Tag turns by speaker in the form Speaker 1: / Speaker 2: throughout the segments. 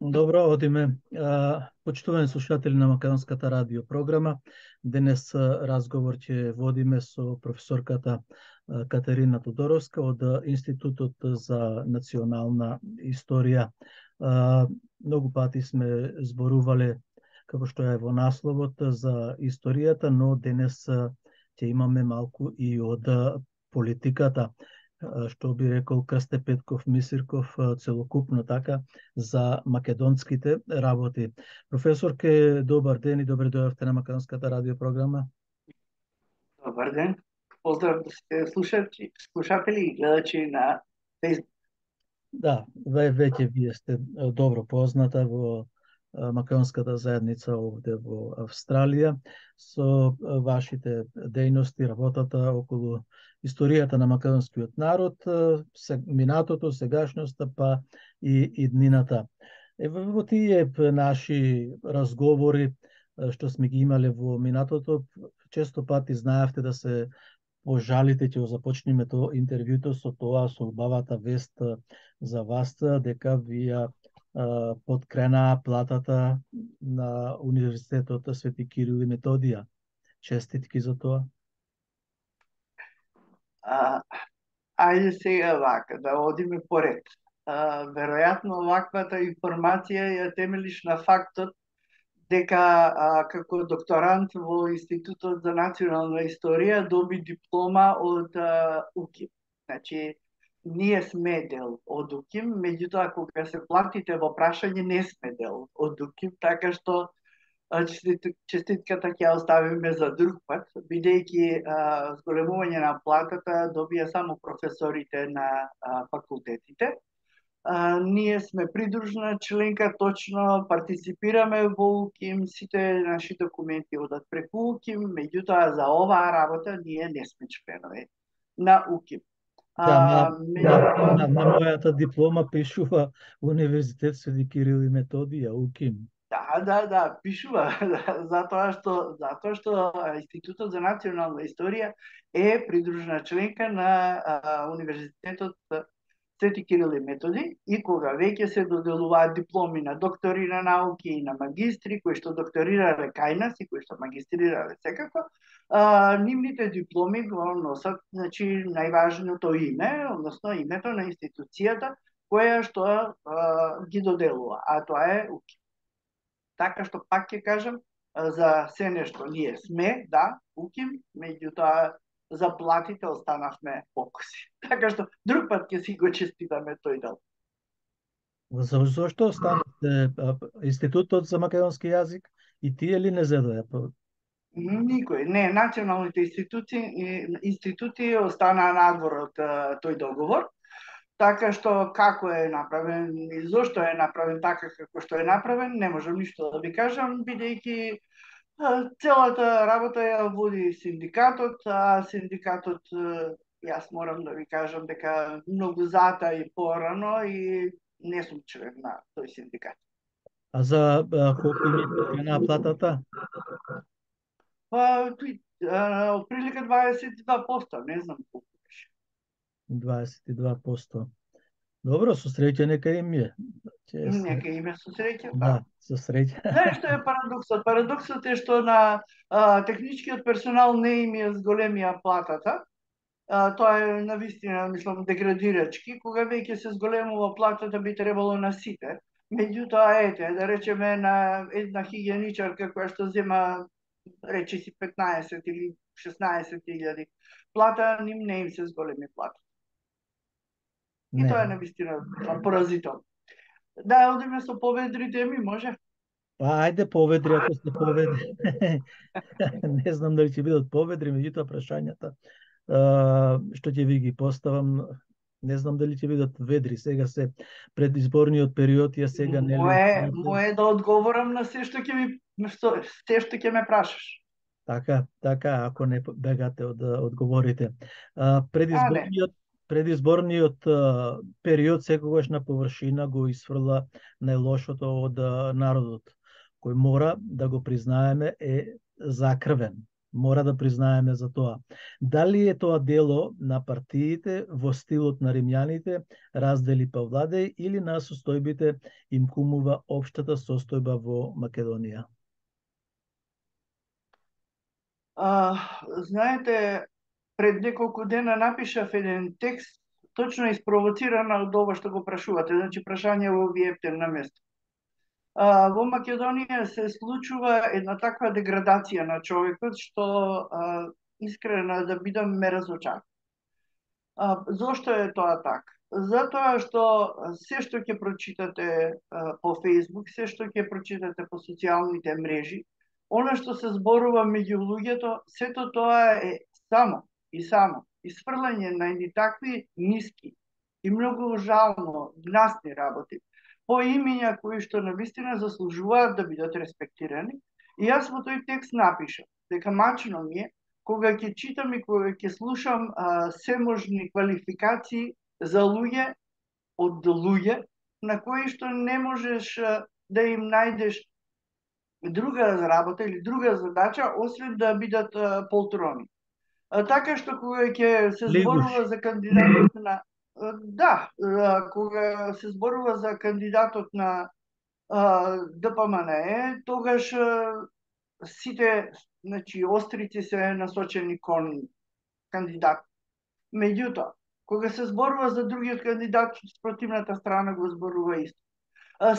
Speaker 1: Добро, одиме. Почитувани слушатели на Македонската радио програма. Денес разговор ќе водиме со професорката Катерина Тодоровска од Институтот за национална историја. Многу пати сме зборувале, како што е во насловот, за историјата, но денес ќе имаме малку и од политиката, што би рекол Крсте Петков Мисирков, целокупно така за македонските работи. Професорке, добар ден и добре дојавте на Македонската радио програма.
Speaker 2: Добар ден. Поздрав слушатели и гледачи на Facebook.
Speaker 1: Да, веќе вие сте добро позната во македонската заедница овде во Австралија со вашите дејности, работата околу историјата на македонскиот народ, минатото, сегашноста, па и днината. Во тие наши разговори што сме ги имале во минатото, често пати знаевте да се пожалите, ќе започнеме интервјуто со тоа, со убавата вест за вас, дека вие подкренаа платата на Универзитетот Свети Кирил и Методија. Честитки за тоа.
Speaker 2: Ајде сега вака, да одиме поред. Веројатно ваквата информација ја темелиш на фактот дека како докторант во Институтот за национална историја доби диплома од УКИМ. Значи, ние сме дел од УКИМ, меѓутоа кога се платите во прашање не сме дел од УКИМ, така што честитката ќе ја оставиме за друг пат, бидејќи зголемување на платата добија само професорите на факултетите. Ние сме придружна членка, точно партиципираме во УКИМ, сите наши документи одат преку УКИМ, меѓутоа за оваа работа ние не сме членови на УКИМ.
Speaker 1: На мојата диплома пишува Универзитет Свети Кирил и Методија, УКИМ.
Speaker 2: Да, пишува, затоа што Институтот за национална историја е придружна членка на Универзитетот Свети Кирил и Методи, и кога веќе се доделуваат дипломи на доктори на науки и на магистри кои што докторирале кај нас и кои што магистрирале секако, нивните дипломи го носат, значи, најважното име, односно името на институцијата која што ги доделува, а тоа е УКИМ. Така што пак ќе кажам, за се нешто ние сме, да, УКИМ, меѓутоа за платите останавме покуси. Така што друг пат ќе си го честитаме тој дел.
Speaker 1: Зошто останавте Институтот за македонски јазик и тие ли не зедоја?
Speaker 2: Никој. Не, националните институти останаа надвор од тој договор. Така што како е направен и зошто е направен така како што е направен, не можам ништо да ви кажам, бидејќи целата работа ја води синдикатот, а синдикатот, јас морам да ви кажам дека многу зата и порано и не сум член на тој синдикат.
Speaker 1: А за колку им на платата?
Speaker 2: Отприлика 22%, не знам колку беше.
Speaker 1: 22%. Добро, со среќа нека им е.
Speaker 2: Нека им е со среќа,
Speaker 1: да. Со среќа.
Speaker 2: Знаеш што е парадоксот? Парадоксот е што на техничкиот персонал не им е зголемија платата. Тоа е навистина, мислам, деградирачки. Кога веќе се зголемува платата, би требало на сите. Меѓутоа, да речеме на една хигиеничарка која што зема, рече си 15 или 16.000 плата, ним не им се зголеми плата. И тоа е навистина поразително. Да, одиме со поведри теми, може?
Speaker 1: Ајде поведри, ако сте поведри. Не знам дали ќе бидат поведри, меѓутоа прашањата што ќе ви ги поставам, не знам дали ќе бидат ведри. Сега се предизборниот период, ја сега нели.
Speaker 2: Мое да одговорам на се што ќе ме прашаш.
Speaker 1: Така, ако не бегате од одговорите. Предизборниот период секогаш на површина го исфрла најлошото од народот, кој мора да го признаеме е закрвен. Мора да признаеме за тоа. Дали е тоа дело на партиите во стилот на римјаните, раздели па владеј, или на состојбите им кумува општата состојба во Македонија?
Speaker 2: Знаете, пред неколку дена напишав еден текст, точно испровоцирана од ова што го прашувате, значи прашање во виептен на место. Во Македонија се случува една таква деградација на човекот што искрено да бидам ме разочар. Зошто е тоа така? Затоа што се што ќе прочитате по Facebook, се што ќе прочитате по социјалните мрежи, она што се зборува меѓу луѓето, сето тоа е само исфрлање на едни такви ниски и многу жално гнасни работи по имиња кои што навистина заслужуваат да бидат респектирани. И јас во тој текст напишав дека мачно ми е кога ќе читам и кога ќе слушам seможни квалификации за луѓе од луѓе на кои што не можеш да им најдеш друга работа или друга задача освен да бидат полтрони. Така што кога ќе се зборува за кандидатот на кога се зборува за кандидатот на ДПМНЕ, тогаш сите, значи, острици се насочени кон кандидат. Меѓутоа, кога се зборува за другиот кандидат, спротивната страна го зборува исто.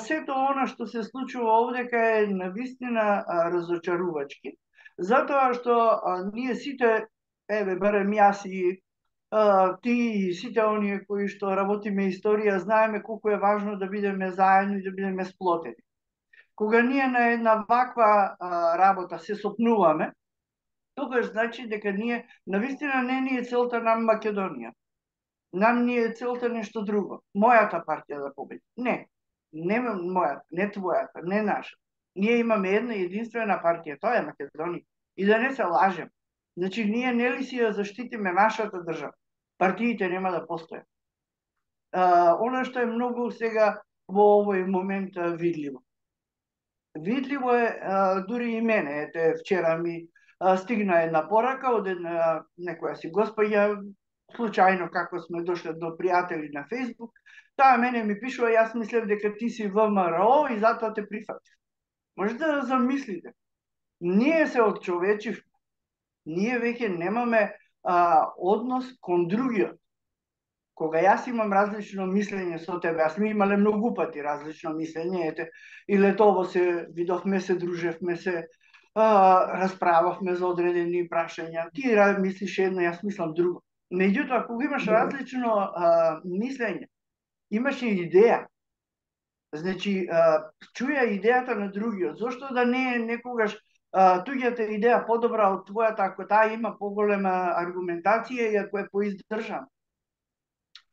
Speaker 2: Сето она што се случува овдека е навистина разочарувачки, затоа што ние сите, барем јас и ти и сите оние кои што работиме историја, знаеме колку е важно да бидеме заедно и да бидеме сплотени. Кога ние на една ваква работа се сопнуваме, тогаш значи дека ние навистина не ни е целта нам Македонија. Нам ни е целта нешто друго. Мојата партија да победи. Не мојата, не твојата, не наша. Ние имаме една единствена партија, тоа е Македонија. И да не се лажем. Значи, ние нели си ја заштитиме нашата држава. Партиите нема да постојат. Она што е многу сега во овој момент видливо. Видливо е, дури и мене, ете, вчера ми стигна една порака од една некоја си госпоѓа, случајно како сме дошле до пријатели на Facebook, таа мене ми пишува, јас мислев дека ти си ВМРО и затоа те прифатив. Можете да замислите. Ние се одчовечивме. Ние веќе немаме однос кон другиот. Кога јас имам различно мислење со тебе, јас ми имале многу пати различно мислење, ете, и летово се видовме, се дружевме, се расправавме за одредени прашања. Ти мислиш едно, јас мислам друго. Меѓутоа, кога имаш различно мислење, имаш и идеја. Значи, чуја идејата на другиот. Зошто да не е некогаш туѓата идеја подобра од твојата, ако таа има поголема аргументација и ако е поиздржана?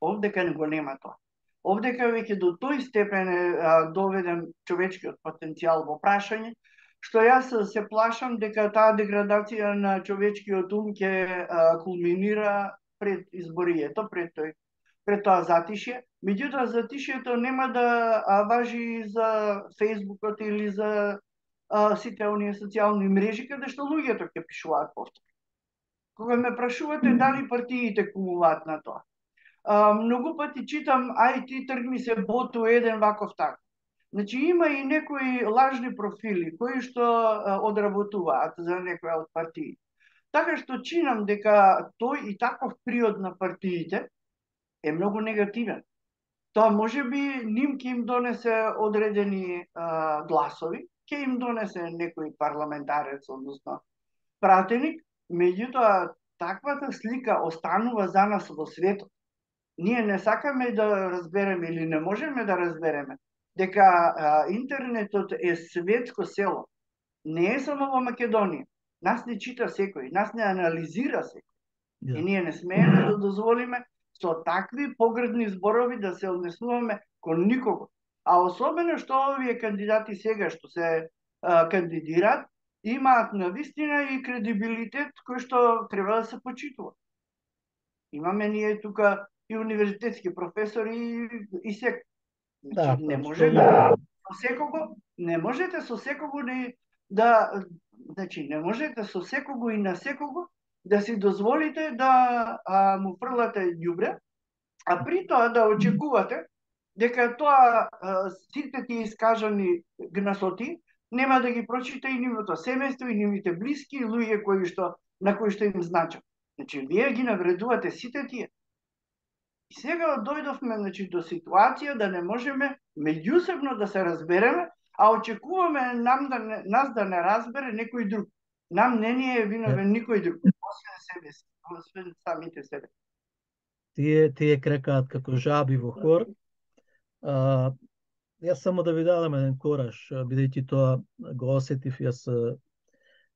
Speaker 2: Овдека не го нема тоа. Овдека веќе до тој степен е доведен човечкиот потенцијал во прашање, што јас се плашам дека таа деградација на човечкиот ум ќе кулминира пред изборието, пред тоа затишје. Меѓутоа, затишјето нема да важи за Фејсбукот или за сите оние социјални мрежи, каде што луѓето ќе пишуваат повторно. Кога ме прашувате дали партиите кумуваат на тоа, многу пати читам, ај ти тргни се боту еден ваков так. Значи има и некои лажни профили кои што одработуваат за некоја од партии. Така што чинам дека тој и таков приод на партиите е многу негативен. Тоа може би ним ќе им донесе одредени гласови, ќе им донесе некој парламентарец, односно пратеник, меѓутоа таквата слика останува за нас во светот. Ние не сакаме да разбереме или не можеме да разбереме дека интернетот е светско село. Не е само во Македонија. Нас не чита секој, нас не анализира секој. И ние не смееме да дозволиме со такви погредни зборови да се однесуваме кон никого. А особено што овие кандидати сега што се кандидираат, имаат навистина и кредибилитет кој што треба да се почитува. Имаме ние тука и универзитетски професори и се. Значи, не можете со секого ни да, значи, не можете со секого и на секого да си дозволите да му фрлате ѓубре, а при тоа да очекувате дека тоа сите тие искажани гнасоти нема да ги прочита и нивното семејство и нивните блиски и луѓе на кои што им значат. Значи, вие ги навредувате сите тие. И сега дојдовме, значи, до ситуација да не можеме меѓусебно да се разбереме, а очекуваме нас да не разбере некој друг. Нам не ни е виновен никој друг, освен самите себе.
Speaker 1: Тие крекаат како жаби во хор. Јас само да ви дадам еден кораж, бидејќи тоа го осетив јас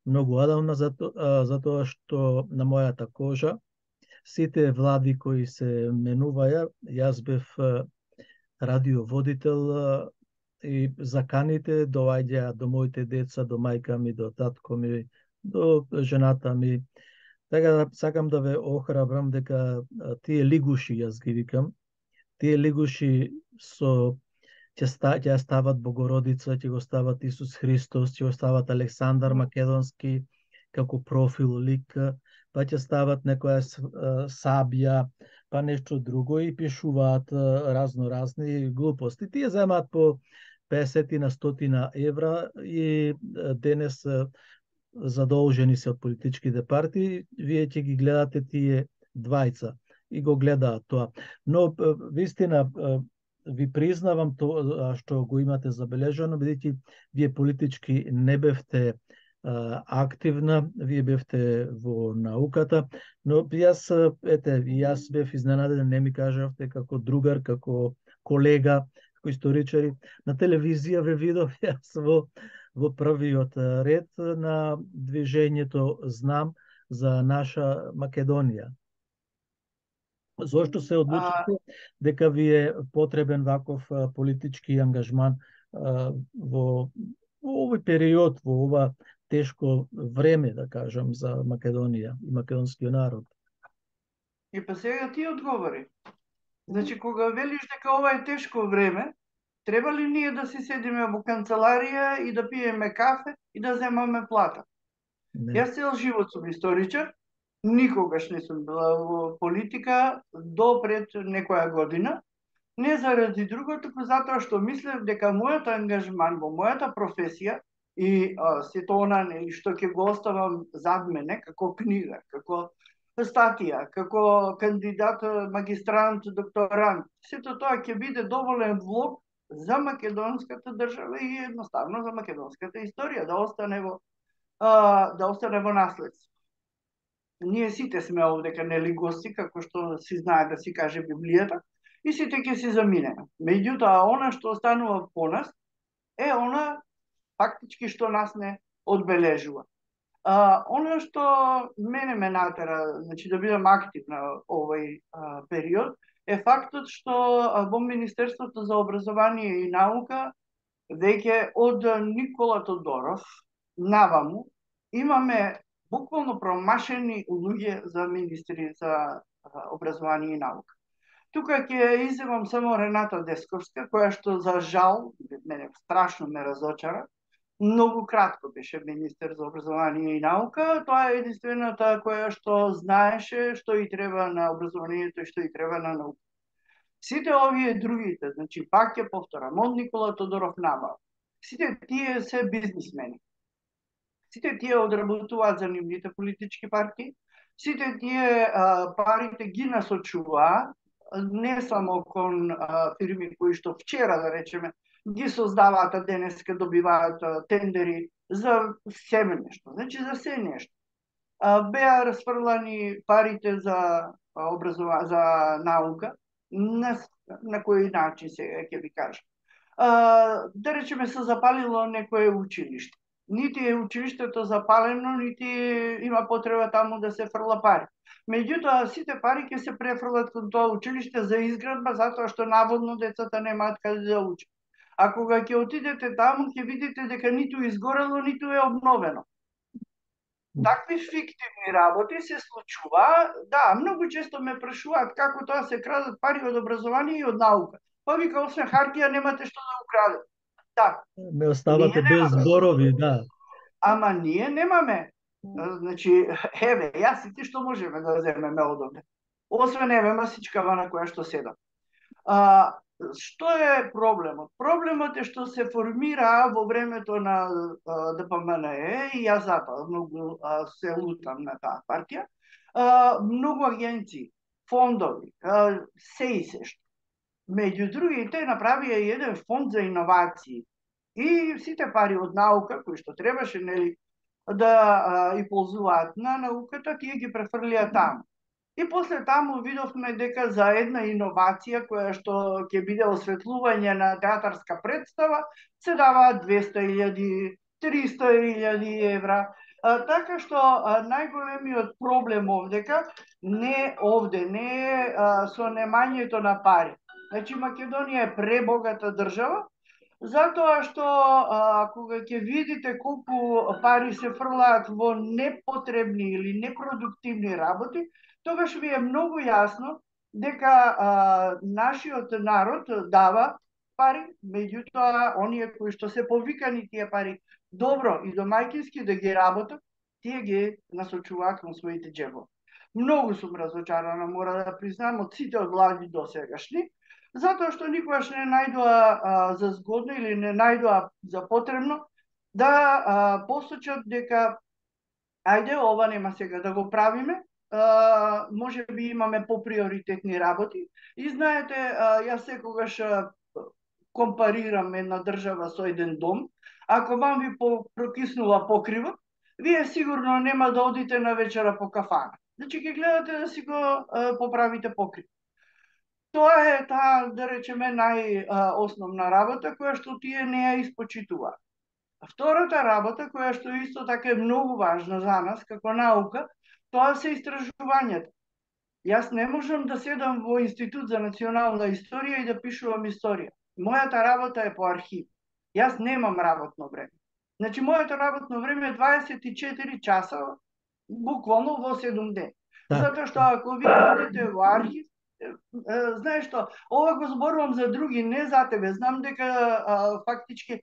Speaker 1: многу одамна, затоа што на мојата кожа сите влади кои се менуваја, јас бев радиоводител и заканите доаѓаа до моите деца, до мајка ми, до татко ми, до жената ми. Така сакам да ве охрабрам дека тие лигуши, јас ги викам, тие лигуши ќе стават Богородица, ќе го стават Исус Христос, ќе го стават Александар Македонски како профил лик, па ќе стават некоја Сабија, па нешто друго и пишуваат разни глупости. Тие земаат по 50 на 100 евра и денес задолжени се од политичките партии, вие ќе ги гледате тие двајца и го гледаат тоа. Но вистина ви признавам тоа што го имате забележано, бидејќи вие политички не бевте активна, вие бевте во науката, но јас бев изненаден, не ми кажавте како другар, како колега, како историчари. На телевизија ве видов јас во првиот ред на движењето Знам за наша Македонија. Зошто се одлучите дека ви е потребен ваков политички ангажман во овој период, во ова тешко време, да кажам, за Македонија и македонскиот народ?
Speaker 2: И па сега ти одговори. Значи, кога велиш дека ова е тешко време, треба ли ние да си седиме во канцеларија и да пиеме кафе и да земаме плата?
Speaker 1: Не.
Speaker 2: Јас цел живот сум историчар, никогаш не сум била во политика до пред некоја година, не заради друго, туку затоа што мислев дека мојот ангажман во мојата професија и сето она што ќе го оставам зад мене, како книга, како статија, како кандидат, магистрант, докторант, сето тоа ќе биде доволен влог за македонската држава и едноставно за македонската историја, да остане во наследство. Ние сите сме овдека нели гости, како што си знае да си каже Библијата, и сите ќе си заминеме. Меѓутоа, она што останува по нас е она фактички што нас не одбележува. Она што мене ме натера, значи, да бидам активна овој период, е фактот што во Министерството за образование и наука веќе од Никола Тодоров наваму имаме буквално промашени луѓе за министри за образование и наука. Тука ќе изземам само Рената Десковска, која што за жал мене страшно ме разочара. Многу кратко беше министер за образование и наука. Тоа е единствената која што знаеше што и треба на образованието и што и треба на наука. Сите овие другите, значи пак ќе повторам, од Никола Тодоров наваму, сите тие се бизнисмени. Сите тие одработуваат за нивните политички партии, сите тие парите ги насочуваат не само кон фирми кои што вчера, да речеме, ги создаваат, а денеска добиваат тендери за себе нешто, значи за се нешто. Беа расфрлани парите за наука, на кој начин сега ќе ви кажам. Да речеме се запалило некое училиште. Нити е училиштето запалено, нити има потреба таму да се фрла пари. Меѓутоа, сите пари ќе се префрлат кон тоа училиште за изградба, затоа што наводно децата немаат каде да учат. А кога ќе отидете таму, ќе видите дека ниту изгорело, ниту е обновено. Такви фиктивни работи се случува. Да, многу често ме прашуваат како тоа се крадат пари од образование и од наука. Па вика, освен хартија немате што да украдете. Да.
Speaker 1: Ме оставате без зборови, да.
Speaker 2: Ама ние немаме. Значи, еве, јас и ти што можеме да земеме од овде. Освен еве масичкава на која што седам. Што е проблемот? Проблемот е што се формира во времето на ДПМНЕ и јас затоа многу се лутам на таа партија. Многу агенции, фондови, се и се што. Меѓу другите направија еден фонд за иновации. И сите пари од наука, кои што требаше, нели, да и ползуваат на науката, тие ги префрлија таму. И после таму видовме дека за една иновација која што ќе биде осветлување на театарска представа, се даваат 200.000, 300.000 евра. Така што најголемиот проблем овдека не е со немањето на пари. Значи Македонија е пребогата држава, затоа што кога ќе видите колку пари се фрлаат во непотребни или непродуктивни работи, тогаш ви е многу јасно дека нашиот народ дава пари, меѓутоа оние кои што се повикани тие пари добро и домаќински да ги работат, тие ги насочуваат кон своите џебови. Многу сум разочарана, мора да признам, од сите влади до сегашни, затоа што никогаш не најдоа за згодно или не најдоа за потребно да посочат дека ајде ова нема сега да го правиме, може би имаме поприоритетни работи. И знаете, јас секогаш компарирам една држава со еден дом. Ако вам ви прокиснува покривот, вие сигурно нема да одите на вечера по кафана. Значи ќе гледате да си го поправите покрив. Тоа е таа, да речеме, најосновна работа која што тие не ја испочитуваат. Втората работа, која што исто така е многу важна за нас како наука, тоа се истражувањата. Јас не можам да седам во Институт за национална историја и да пишувам историја. Мојата работа е по архив. Јас немам работно време. Значи, моето работно време е 24 часа, буквално во 7 ден. Затоа што ако ви одите во архив, знаеш што, ова го зборувам за други, не за тебе. Знам дека фактички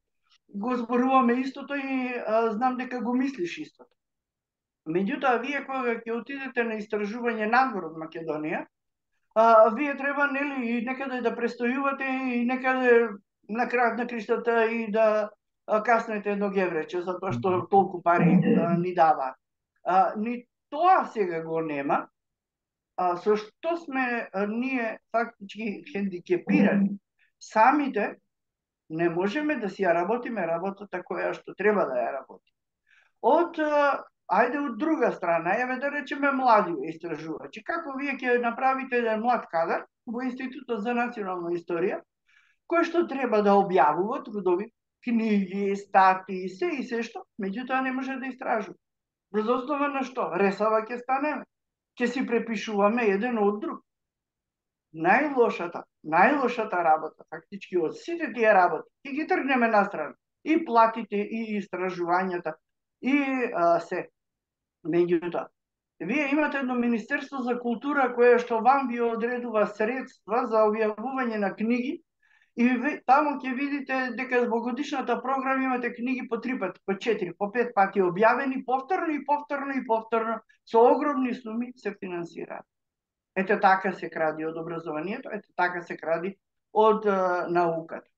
Speaker 2: го зборуваме истото и знам дека го мислиш истото. Меѓутоа, вие кога ќе отидете на истражување надвор од Македонија, вие треба, нели, и некаде да престојувате и некаде на крајот на криштата и да каснете едно геврече, затоа што толку пари ни даваат. Ни тоа сега го нема, со што сме ние фактички хендикепирани. Самите не можеме да си ја работиме работата која што треба да ја работи. Ајде од друга страна, еве да речеме млади истражувачи. Како вие ќе направите еден млад кадар во Институтот за национална историја, кој што треба да објавува трудови, книги, статии, се и се што, меѓутоа не може да истражува. Врз основа на што? Ресава ќе станеме. Ќе си препишуваме еден од друг. Најлошата работа, фактички од сите тие работи, ќе ги тргнеме настрана. И платите, и истражувањата, и се. Меѓутоа, вие имате едно Министерство за култура кое што вам ви одредува средства за објавување на книги и таму ќе видите дека во годишната програма имате книги по 3 пати, по 4, по 5 пати објавени, повторно, со огромни суми се финансираат. Ете така се кради од образованието, ете така се кради од науката.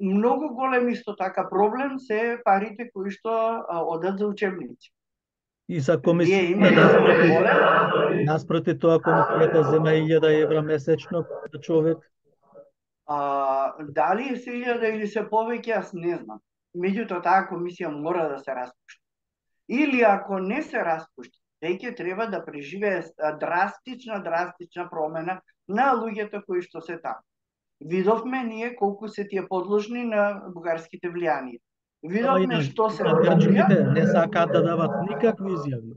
Speaker 2: Многу голем исто така проблем се парите кои што одат за учебници.
Speaker 1: И за комисијата наспроти тоа комисијата зема 1000 евра месечно за човек?
Speaker 2: Дали е 1000 или се повеќе, јас не знам. Меѓутоа таа комисија мора да се распушти. Или ако не се распушти, веќе треба да преживее драстична промена на луѓето кои што се таму. Видовме ние колку се тие подложни на бугарските влијанија. Видовме што се
Speaker 1: грчките не сакаат да дават никакви изјави.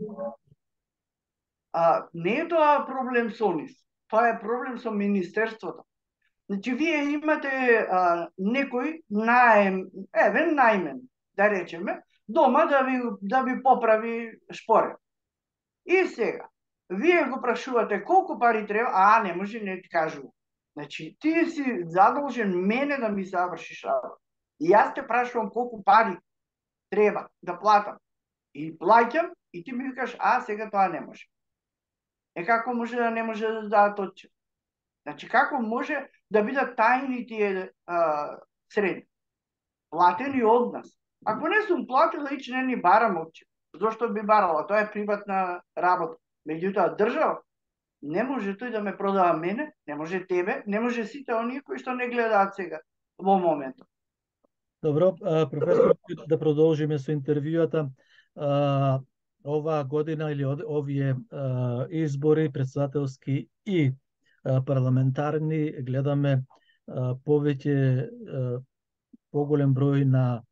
Speaker 2: Не е тоа проблем со нив. Тоа е проблем со министерството. Значи, вие имате некој најмен, да речеме, дома да ви поправи шпоред. И сега, вие го прашувате колку пари треба, не може, не ти кажува. Значи, ти си задолжен мене да ми завршиш работа. И јас те прашувам колку пари треба да платам. и плаќам, и ти ми викаш, сега тоа не може. Како може да не може да дадат отчет? Значи, како може да бидат тајни тие средни? Платени од нас. Ако не сум платила, ич не ни барам отчет. Зошто би барала? Тоа е приватна работа. Меѓутоа, држава не може тој да ме продава мене, не може тебе, не може сите оние кои што не гледаат сега во моментот.
Speaker 1: Добро, професор, да продолжиме со интервјуата. Оваа година или овие избори, председателски и парламентарни, гледаме повеќе поголем број на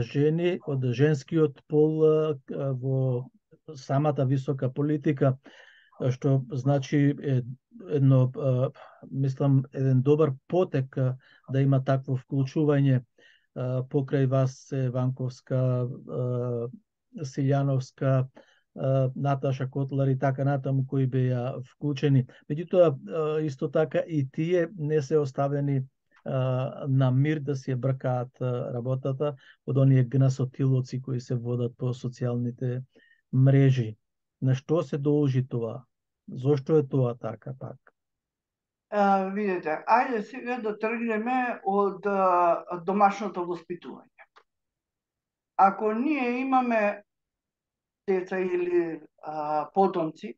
Speaker 1: жени од женскиот пол во самата висока политика, што значи едно, мислам, еден добар потек да има такво вклучување. Покрај вас Ванковска, Силјановска, Наташа Котлар и така натаму кои беа вклучени. Меѓутоа, исто така и тие не се оставени на мир да си ја бркаат работата од оние гнасотилоци кои се водат по социјалните мрежи. На што се должи тоа? Зошто е тоа така пак?
Speaker 2: Видете, ајде сега да тргнеме од домашното воспитување. Ако ние имаме деца или потомци,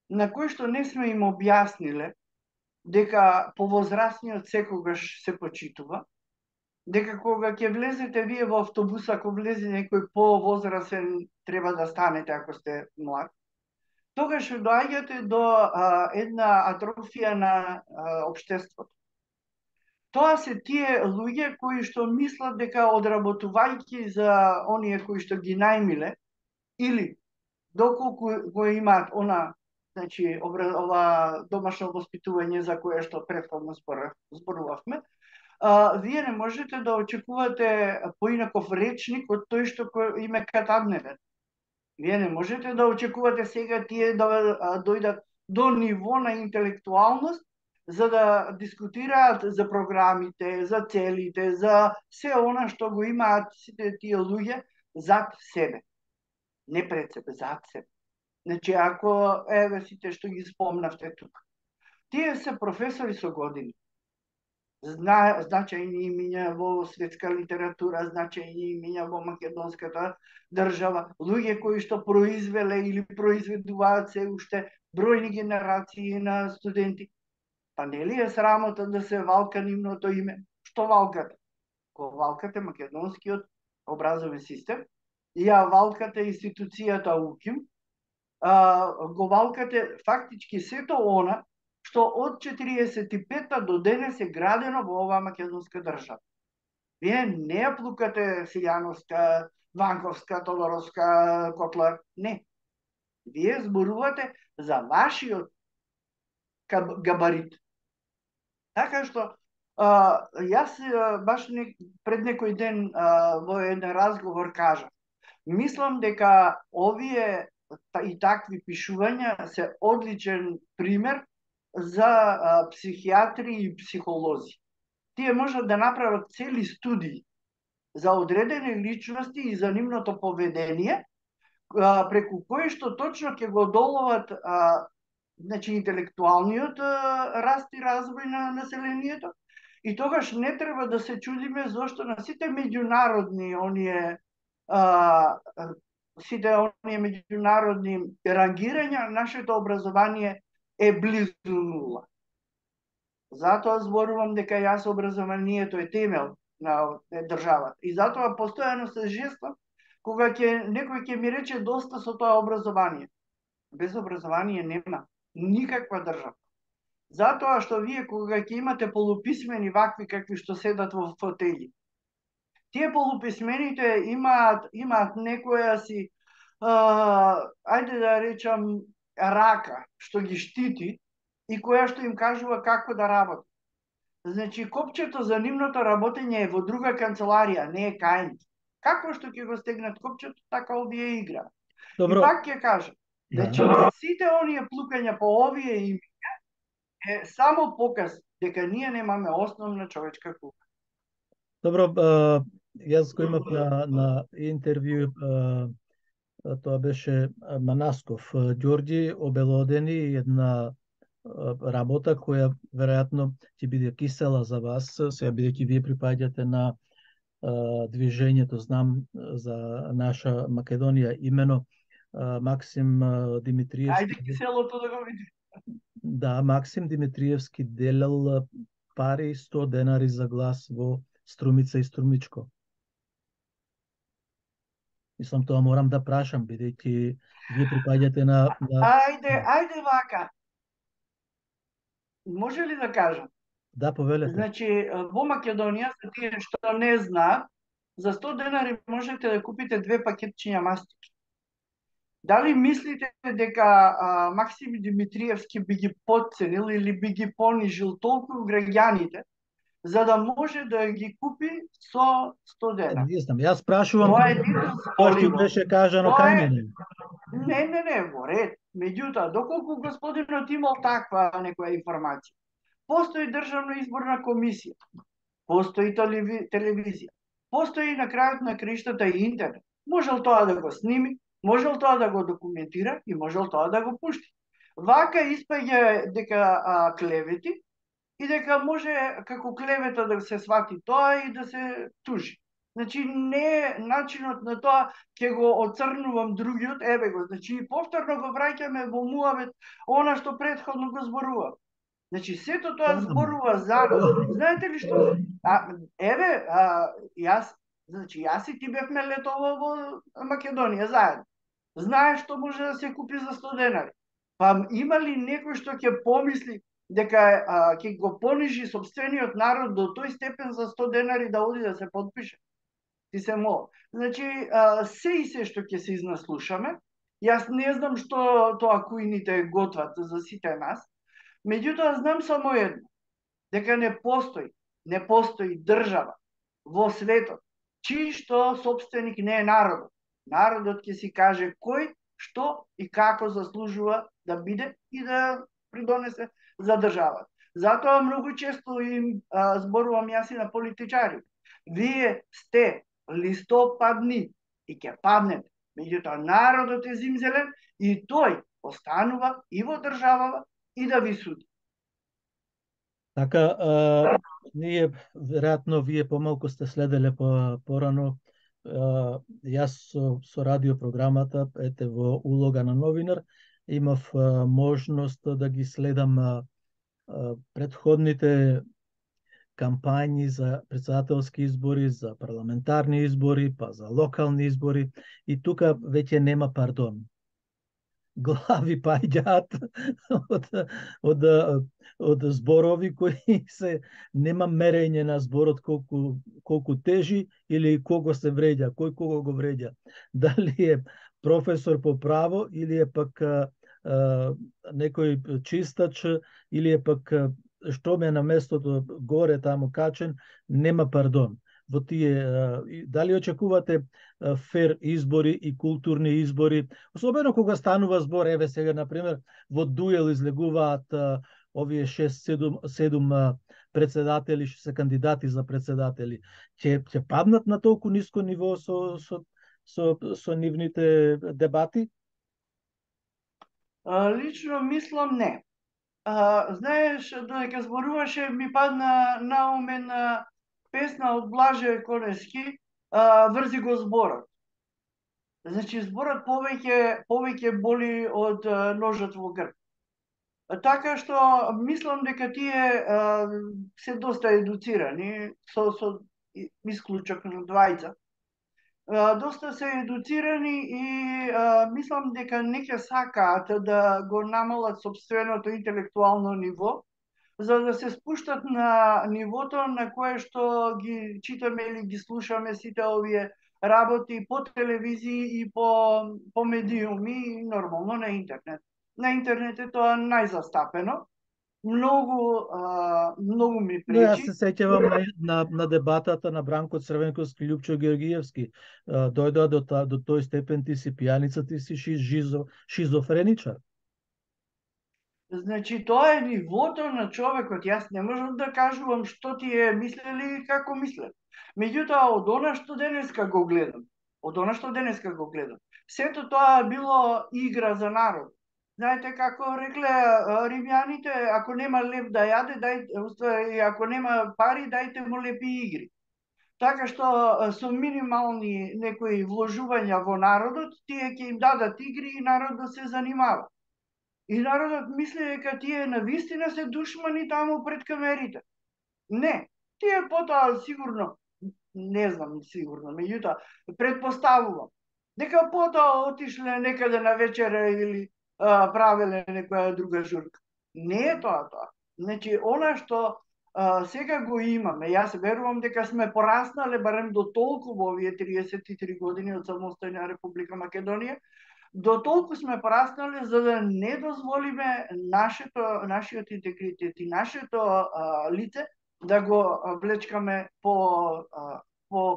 Speaker 2: на кои што не сме им објасниле дека повозрасниот секогаш се почитува, дека кога ќе влезете вие во автобус, ако влезе некој повозрасен, треба да станете ако сте млад, тогаш доаѓате до една атрофија на општеството. Тоа се тие луѓе кои што мислат дека одработувајќи за оние кои што ги најмиле, или доколку го имаат значи, ова домашно воспитување за кое што претходно зборувавме, вие не можете да очекувате поинаков речник од тој што им е катадневен. Вие не можете да очекувате сега тие да дојдат до ниво на интелектуалност за да дискутираат за програмите, за целите, за се она што го имаат сите тие луѓе зад себе. Не пред себе, зад себе. Значи, ако сите што ги спомнавте тука, тие се професори со години. Значајни имиња во светска литература, значајни имиња во македонската држава, луѓе кои што произвеле или произведуваат се уште бројни генерации на студенти. Па нели е срамота да се валка нивното име? Што валкате? Го валкате македонскиот образовен систем, ја валкате институцијата УКИМ, го валкате фактички сето она што од 45-та до денес е градено во оваа македонска држава. Вие не ја плукате Силјановска, Ванковска, Тодоровска, Котлар, не. Вие зборувате за вашиот габарит. Така што, јас баш пред некој ден во еден разговор кажа, мислам дека овие и такви пишувања се одличен пример за психијатри и психолози. Тие можат да направат цели студии за одредени личности и за нивното поведение, преку кои што точно ќе го доловат значи интелектуалниот раст и развој на населението, и тогаш не треба да се чудиме зошто на сите меѓународни меѓународни рангирања нашето образование е близу нула. Затоа зборувам дека јас образованието е темел на државата. И затоа постојано се жестам кога некој ќе ми рече доста со тоа образование. Без образование нема никаква држава. Затоа што вие кога ќе имате полуписмени вакви какви што седат во фотели, тие полуписмените имаат некоја си, ајде да речам, рака што ги штити и која што им кажува како да работи. Значи, копчето за нивното работење е во друга канцеларија, не е кај нив. Како што ќе го стегнат копчето, така овие играат. И пак ќе кажам, значи, сите оние плукања по овие имиња е само показ дека ние немаме основна човечка култура.
Speaker 1: Добро, Јас го имав на интервју, тоа беше Манасков, Ѓорѓи обелодени една работа која веројатно ќе биде кисела за вас, сега бидејќи вие припаѓате на движењето, знам за наша Македонија, имено Максим Димитриевски.
Speaker 2: Ајде киселото да го види.
Speaker 1: Да, Максим Димитриевски делел пари 100 денари за глас во Струмица и Струмичко. Мислам, тоа морам да прашам, бидејќи вие припаѓате на...
Speaker 2: Ајде вака. Може ли да кажам?
Speaker 1: Да, повелете.
Speaker 2: Значи, во Македонија, за тие што не знаат, за 100 денари можете да купите 2 пакетчиња мастики. Дали мислите дека Максим Димитриевски би ги потценил или би ги понижил толку граѓаните, за да може да ги купи со 100 денари?
Speaker 1: Не знам, јас прашувам
Speaker 2: Тоа е недозволиво.
Speaker 1: тоа што беше кажано кај мене.
Speaker 2: Не, во ред. Меѓутоа, доколку господинот имал таква некоја информација, постои Државна изборна комисија, постои телевизија, постои на крајот на краиштата и интернет. Можел тоа да го сними, можел тоа да го документира и можел тоа да го пушти. Вака испаѓа дека клевети и дека може како клевета да се свати тоа и да се тужи. Значи, не начинот на тоа ќе го оцрнувам другиот, еве го, значи повторно го враќаме во муавет она што претходно го зборував. Значи, сето тоа зборува за нас. Знаете ли што? Јас и ти бевме летово во Македонија заедно. Знаеш што може да се купи за 100 денари. Па има ли некој што ќе помисли дека ќе го понижи сопствениот народ до тој степен за 100 денари да оди да се подпише? Ти се молам. Значи, се и се што ќе се изнаслушаме, јас не знам што тоа кујните готват за сите нас, меѓутоа знам само едно, дека не постои држава во светот, чиј што сопственик не е народот. Народот ќе си каже кој, што и како заслужува да биде и да придонесе за државата. Затоа многу често им зборувам јас и на политичари. Вие сте листопадни и ќе паднете. Меѓутоа народот е зимзелен и тој останува и во државава и да ви суди.
Speaker 1: Така, ние, веројатно, вие помалку сте следеле порано, јас со радиопрограмата, ете во улога на новинар, имав можност да ги следам предходните кампањи за председателски избори, за парламентарни избори, па за локални избори, и тука веќе нема пардон. Глави паѓаат од зборови кои се нема мерење на зборот колку тежи или кого се вреѓа, кој кого го вреѓа. Дали е професор по право или е пак некој чистач или е пак што ме на местото горе таму качен, нема пардон. Во тие, дали очекувате фер избори и културни избори, особено кога станува збор, еве сега, например, во дуел излегуваат овие 6-7 председатели што се кандидати за председатели. Ќе паднат на толку ниско ниво со нивните дебати?
Speaker 2: Лично мислам не. Знаеш, додека зборуваше, ми падна на ум една песна од Блаже Конески, врзи го зборот. Значи, зборот повеќе боли од ножот во грб. Така што мислам дека тие се доста едуцирани, со исклучок на двајца. Доста се едуцирани и мислам дека не ќе сакаат да го намалат собственото интелектуално ниво, за да се спуштат на нивото на кое што ги читаме или ги слушаме сите овие работи по телевизии и по медиуми и нормално на интернет. На интернет е тоа најзастапено. Многу ми пречи.
Speaker 1: Јас се сеќавам на дебатата на Бранко Црвенковски и Љупчо Георгиевски. Дојдоа до тој степен ти си пијаница, ти си шизофреничар.
Speaker 2: Значи, тоа е нивото на човекот. Јас не можам да кажувам што тие мислели и како мислят. Меѓутоа, од она што денеска го гледам, сето тоа било игра за народ. Знаете како рекле римјаните, ако нема леп да јаде, дај, ако нема пари, дајте му лепи игри. Така што со минимални некои вложувања во народот, тие ќе им дадат игри и народот се занимава. И народот мисли дека тие навистина се душмани таму пред камерите. Не, тие потоа сигурно, не знам сигурно, меѓутоа претпоставувам дека потоа отишле некаде на вечера или правеле некоја друга журка. Не е тоа. Значи, она што сега го имаме, јас верувам дека сме пораснале барем до толку во овие 33 години од самостојна Република Македонија, до толку сме пораснале за да не дозволиме нашиот интегритет и нашето лице да го влечкаме по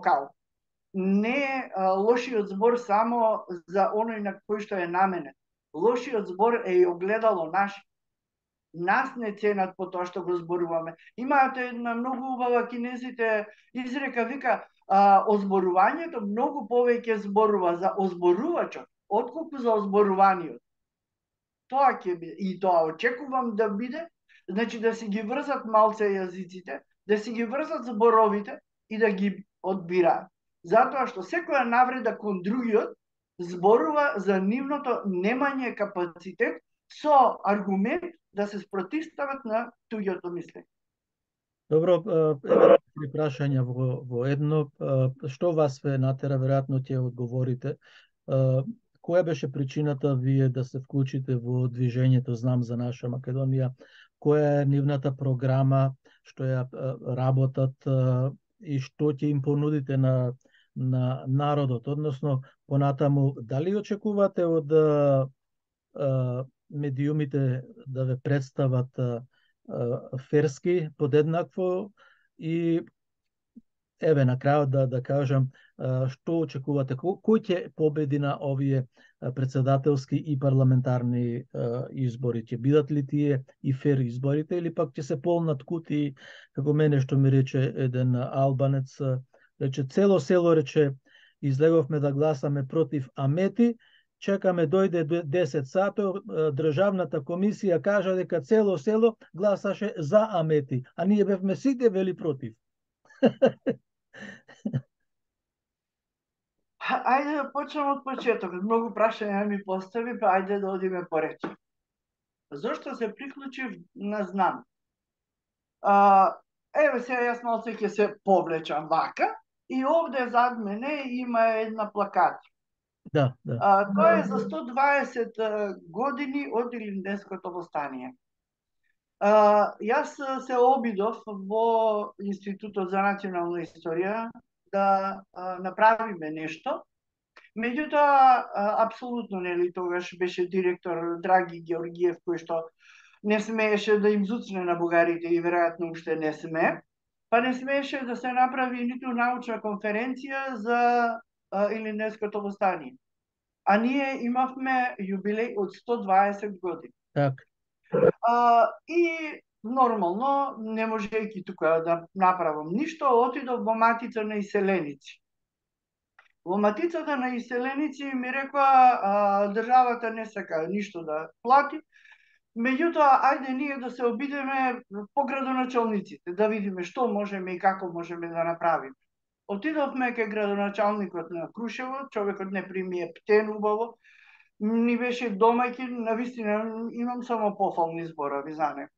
Speaker 2: кал. Не лошиот збор само за оној на кој што е наменет. Лошиот збор е и огледало наше. Нас не ценат по тоа што го зборуваме. Имаат една многу убава кинезите изрека, вика, озборувањето многу повеќе зборува за озборувачот, отколку за озборуваниот. Тоа ќе биде, и тоа очекувам да биде, значи да си ги врзат малце јазиците, да си ги врзат зборовите и да ги одбираат. Затоа што секоја навреда кон другиот зборува за нивното немање капацитет со аргумент да се спротивстават на туѓото мислење.
Speaker 1: Добро, еве три прашања во едно. Што вас ве натера, веројатно ќе одговорите. Која беше причината вие да се вклучите во движењето Знам за наша Македонија? Која е нивната програма, што ја работат и што ќе им понудите на народот? Односно, понатаму, дали очекувате од медиумите да ве представат ферски, подеднакво и еве на крајот да кажам што очекувате, кој ќе победи на овие председателски и парламентарни избори? Ќе бидат ли тие и фер изборите или пак ќе се полнат кутии, како мене што ми рече еден албанец, рече цело село, рече излеговме да гласаме против Амети, чекаме дојде 10 сато, државната комисија кажа дека цело село гласаше за Амети, а ние бевме сите вели против.
Speaker 2: Ајде да почнем од почеток. Многу прашања ми постави, па ајде да одиме поред. Зошто се приклучив на Знам? Еве сега јас малце ќе се повлечам вака и овде зад мене има една плакат.
Speaker 1: Да.
Speaker 2: Тоа е за 120 години од Илинденското востание. Јас се обидов во Институтот за национална историја да направиме нешто. Меѓутоа, апсолутно нели тогаш беше директор Драги Георгиев, кој што не смееше да им зуцне на бугарите и веројатно уште не сме, па не смееше да се направи ниту научна конференција за Илинденското востание. А ние имавме јубилеј од 120 години.
Speaker 1: Так.
Speaker 2: И нормално, не можејќи тука да направам ништо, отидов во Матица на иселеници. Во Матицата на иселеници ми рекоа државата не сака ништо да плати, меѓутоа ајде ние да се обидеме по градоначалниците, да видиме што можеме и како можеме да направиме. Отидовме кај градоначалникот на Крушево, човекот не прими птен убаво, ни беше домаќин, навистина имам само пофални зборови за него.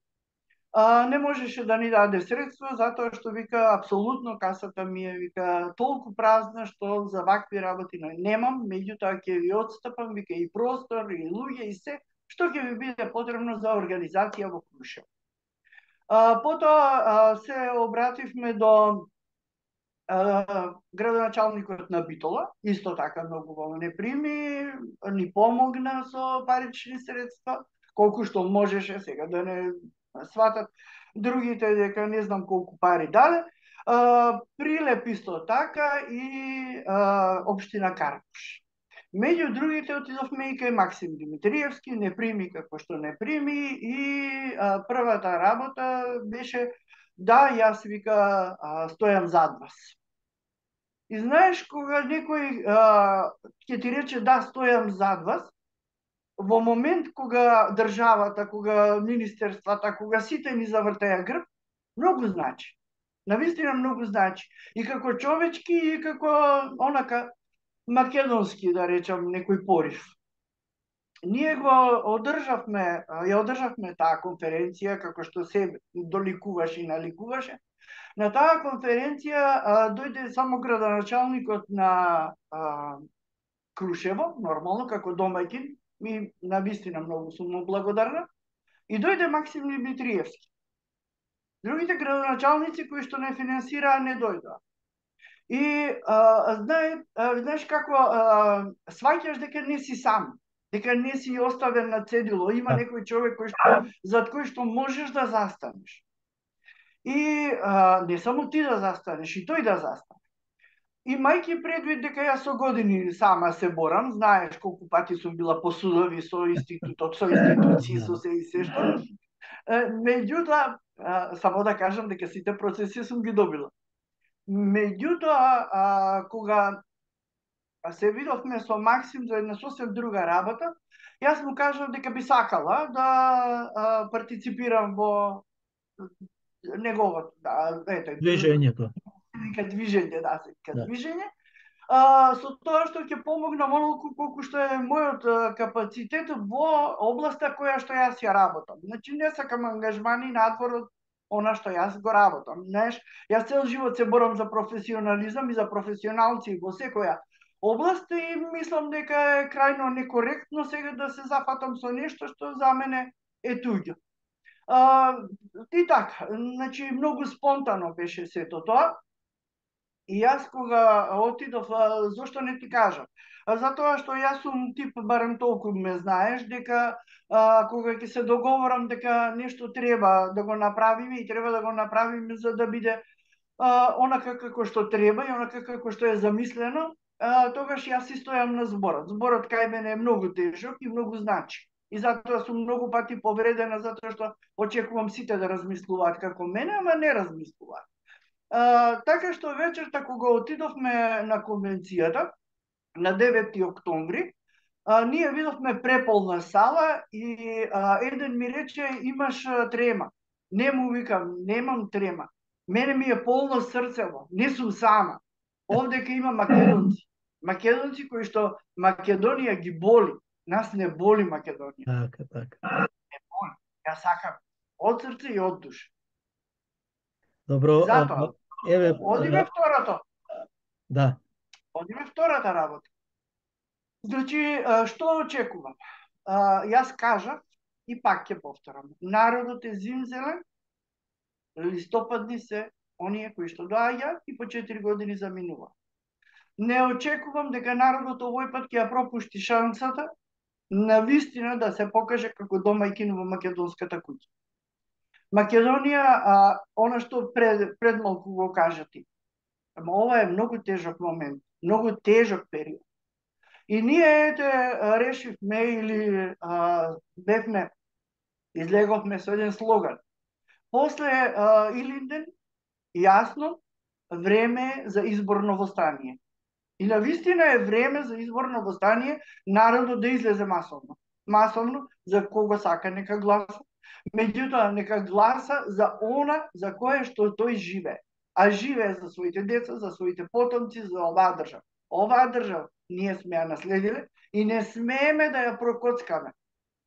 Speaker 2: Не можеше да ни даде средства, затоа што вика, апсолутно касата ми е, вика, толку празна, што за вакви работи немам, меѓутоа ќе ви отстапам, вика, и простор, и луѓе, и се, што ќе ви биде потребно за организација во Крушево. Потоа се обративме до градоначалникот на Битола, исто така многу во не прими, ни помогна со парични средства, колку што можеше, сега да не сватат другите дека не знам колку пари дале. Прилеп исто така и општина Карпуш. Меѓу другите отидовме и кај Максим Димитриевски, не прими како што не прими и првата работа беше да, јас вика стојам зад вас. И знаеш, кога некој ќе ти рече да, стојам зад вас, во момент кога државата, кога министерствата, кога сите ни завртеа грб, многу значи. Навистина многу значи. И како човечки, и како онака македонски, да речам, некој порив. Ние ја одржавме таа конференција, како што се доликуваше и наликуваше. На таа конференција дојде само градоначалникот на Крушево, нормално, како домаќин, ми навистина многу сум му благодарна, и дојде Максим Димитриевски. Другите градоначалници кои што не финансираа не дојдоа. И знаеш како сваќаш дека не си сам, дека не си оставен на цедило, има некој човек зад кој што можеш да застанеш. И не само ти да застанеш, и тој да застане. Имајќи предвид дека јас со години сама се борам, знаеш колку пати сум била по судови со институтот, со институции, со се и се што. Меѓутоа, само да кажам дека сите процеси сум ги добила. Меѓутоа, кога се видовме со Максим за една сосем друга работа, јас му кажав дека би сакала да партиципирам во неговото,
Speaker 1: движењето.
Speaker 2: Движење, движење. Со тоа што ќе помогнам онолку колку што е мојот капацитет во областа која што јас ја работам. Значи не сакам ангажмани надвор од она што јас го работам. Знаеш, јас цел живот се борам за професионализам и за професионалци во секоја област и мислам дека е крајно некоректно сега да се зафатам со нешто што за мене е туѓо. И така, значи многу спонтано беше сето тоа. И јас кога отидов, зошто не ти кажам? Затоа што јас сум тип, барем толку ме знаеш, дека кога ќе се договорам дека нешто треба да го направиме и треба да го направиме за да биде онака како што треба и онака како што е замислено, тогаш јас си стојам на зборот. Зборот кај мене е многу тежок и многу значи. И затоа сум многу пати повредена, затоа што очекувам сите да размислуваат како мене, ама не размислуваат. Така што вечерта кога отидовме на конвенцијата, на 9 октомври, ние видовме преполна сала и еден ми рече имаш трема. Не му викам, немам трема. Мене ми е полно срцево, не сум сама. Овде ке има македонци. Македонци кои што Македонија ги боли. Нас не боли Македонија.
Speaker 1: Така.
Speaker 2: Не боли. Ја сакам од срце и од душа.
Speaker 1: Добро,
Speaker 2: затоа, одиме второто.
Speaker 1: Да.
Speaker 2: Одиме втората работа. Значи, што очекувам? Јас кажав и пак ќе повторам. Народот е зимзелен, листопадни се оние кои што доаѓаат и по 4 години заминува. Не очекувам дека народот овој пат ќе ја пропушти шансата на вистина да се покаже како домаќин во македонската куќа. Македонија, она што пред малку го кажа ти. Ама ова е многу тежок момент, многу тежок период. И ние решивме или бевме, излеговме со еден слоган. После Илинден, јасно, време за изборно востание. И навистина е време за изборно востание народот да излезе масовно. Масовно, за кого сака нека гласа. Меѓутоа, нека гласа за она за кое што тој живее. А живее за своите деца, за своите потомци, за оваа држава. Оваа држава ние сме ја наследиле и не смееме да ја прокоцкаме.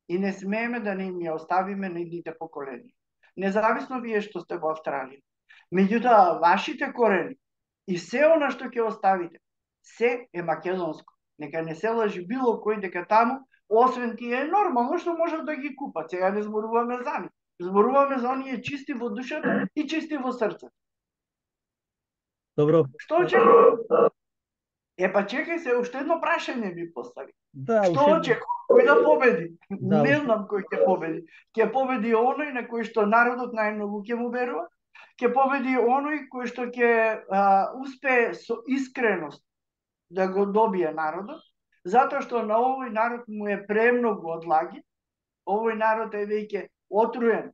Speaker 2: И не смееме да не им ја оставиме на идните поколенија. Независно вие што сте во Австралија. Меѓутоа, вашите корени и се она што ќе оставите, се е македонско. Нека не се лажи било кој дека таму, освен тие нормално што можат да ги купат. Сега не зборуваме за нив. Зборуваме за оние чисти во душата и чисти во срцето.
Speaker 1: Добро.
Speaker 2: Што очекувам? Па чекај се, уште едно прашање ми постави.
Speaker 1: Да,
Speaker 2: што очекувам? Кој да победи?
Speaker 1: Да,
Speaker 2: не знам кој ќе победи. Ќе победи оној на кој што народот најмногу ќе му верува. Ќе победи оној кој што ќе успее со искреност да го добие народот, затоа што на овој народ му е премногу одлаги, овој народ е веќе отруен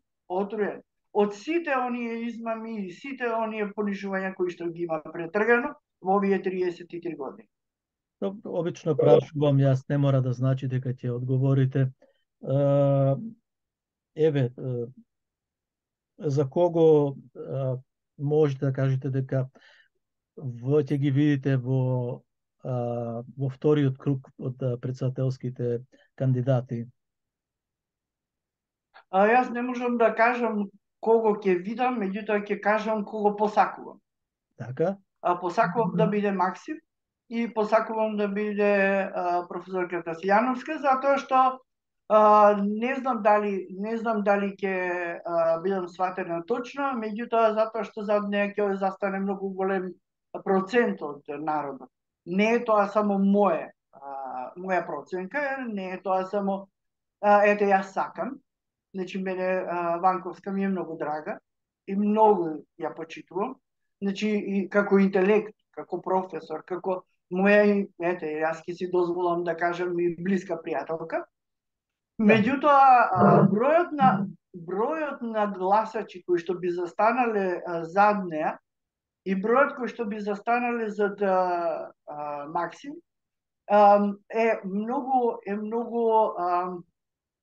Speaker 2: од сите оние измами и сите оние понижувања кои што ги има претргано во овие 33 години.
Speaker 1: Обично прашувам, јас не мора да значи дека ќе одговорите. Еве, за кого можете да кажете дека ќе ги видите во вториот круг од претседателските кандидати?
Speaker 2: Јас не можам да кажам кого ќе видам, меѓутоа ќе кажам кого посакувам.
Speaker 1: Така?
Speaker 2: Посакувам да биде Максим и посакувам да биде професорката Сијановска, затоа што не знам дали ќе бидам сватена точно, меѓутоа затоа што зад неја ќе застане многу голем процент од народот. Не е тоа само моја проценка, не е тоа само ете јас сакам. Значи мене Ванковска ми е многу драга и многу ја почитувам. Значи и како интелект, како професор, како моја, ете, јас ќе си дозволам да кажам и блиска пријателка. Меѓутоа, бројот на гласачи кои што би застанале зад неа и бројот кои што би застанале зад Максим е многу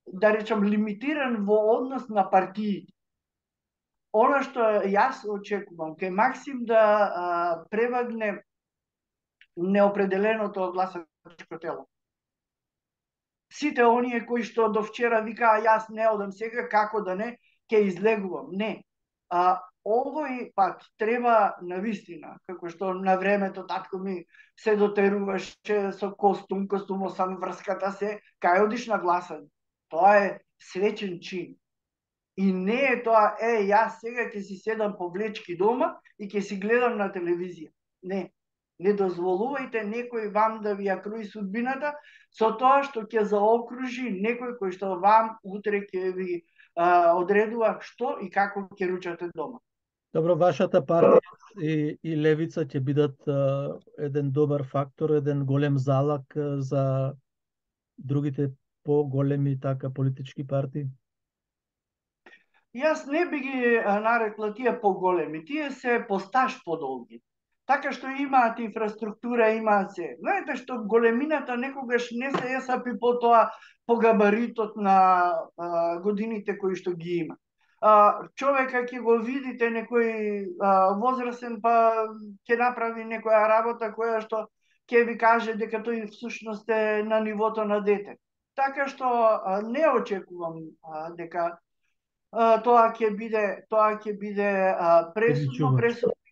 Speaker 2: да речам лимитиран во однос на партиите. Она што јас очекувам кај Максим да превагне неопределеното гласачко тело. Сите оние кои што до вчера викаа јас не одам сега, како да не, ќе излегувам. Не. Овој пат треба навистина, како што на времето татко ми се дотеруваше со костумосан врската се, кај одиш на гласање. Тоа е свечен чин. И не е тоа, јас сега ќе си седам по влечки дома и ќе си гледам на телевизија. Не. Не дозволувајте некој вам да ви ја круи судбината со тоа што ќе заокружи некој кој што вам утре ќе ви одредува што и како ќе ручате дома.
Speaker 1: Добро, вашата партија и левица ќе бидат еден добар фактор, еден голем залак за другите поголеми така политички партии?
Speaker 2: Јас не би ги нарекла тие поголеми, тие се посташ подолги. Така што имаат инфраструктура, имаат се. Знаете што големината некогаш не се есапи по тоа по габаритот на годините кои што ги има. Човека ќе го видите некој возрастен па ќе направи некоја работа која што ќе ви каже дека тој всушност е на нивото на дете. Така што не очекувам дека тоа ќе биде пресудно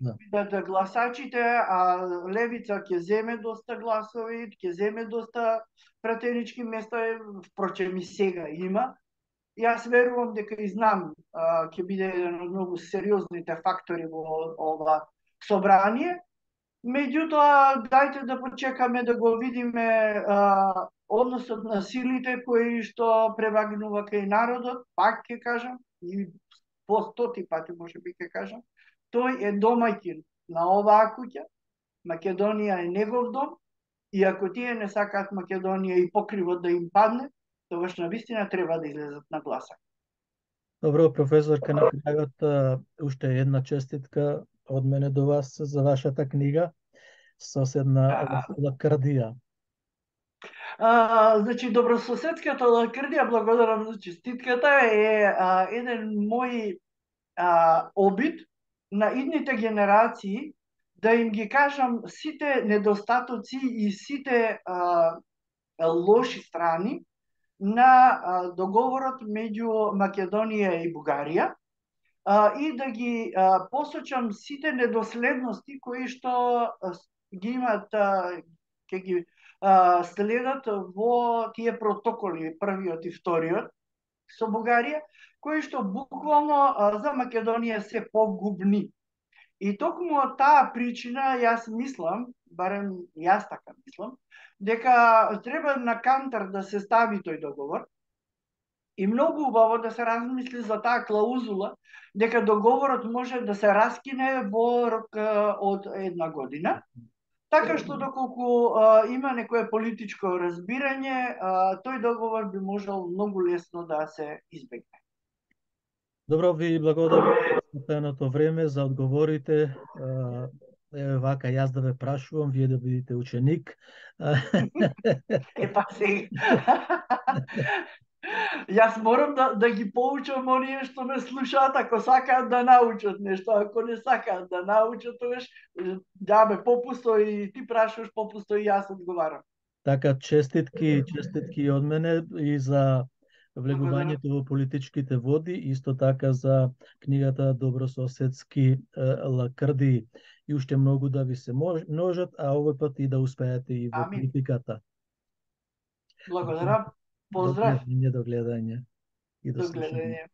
Speaker 2: бидат гласачите, а левица ќе земе доста гласови, ќе земе доста пратенички места, впрочем и сега има. Јас верувам дека и знам ќе биде еден од многу сериозните фактори во ова собрание. Меѓутоа, дајте да почекаме да го видиме односот на силите кои што превагнува кај народот, пак ќе кажам, и по 100 пати можеби ќе кажам, тој е домаќин на оваа куќа, Македонија е негов дом, и ако тие не сакаат Македонија и покривот да им падне, тогаш навистина треба да излезат на гласа.
Speaker 1: Добро, професорка, на крајот уште една честитка од мене до вас за вашата книга Соседна лакрдија.
Speaker 2: Значи, добрососедската лакрдија, благодарам за честитката, е еден мој обид на идните генерации да им ги кажам сите недостатоци и сите лоши страни на договорот меѓу Македонија и Бугарија и да ги посочам сите недоследности кои што ги имат, ќе ги следат во тие протоколи, првиот и вториот со Бугарија, кои што буквално за Македонија се погубни. И токму од таа причина јас мислам, барем јас така мислам, дека треба на кантар да се стави тој договор и многу убаво да се размисли за таа клаузула дека договорот може да се раскине во рок од 1 година Така што доколку има некое политичко разбирање, тој договор би можел многу лесно да се избегне.
Speaker 1: Добро, ви благодарам за пеното време, за одговорите. Еве вака, јас да ве прашувам, вие да бидете ученик.
Speaker 2: Епа сега. Јас морам да ги поучам оние што ме слушаат, ако сакаат да научат нешто, ако не сакаат да научат, тогаш ме попусто и ти прашуваш попусто и јас одговарам.
Speaker 1: Така, честитки од мене и за влегувањето во политичките води, исто така за книгата Добрососедски лакрди и уште многу да ви се множат, а овој пат и да успеете и во
Speaker 2: Амин.
Speaker 1: политиката.
Speaker 2: Благодарам. Поздрав.
Speaker 1: До гледање и до
Speaker 2: До
Speaker 1: слушање.
Speaker 2: гледање.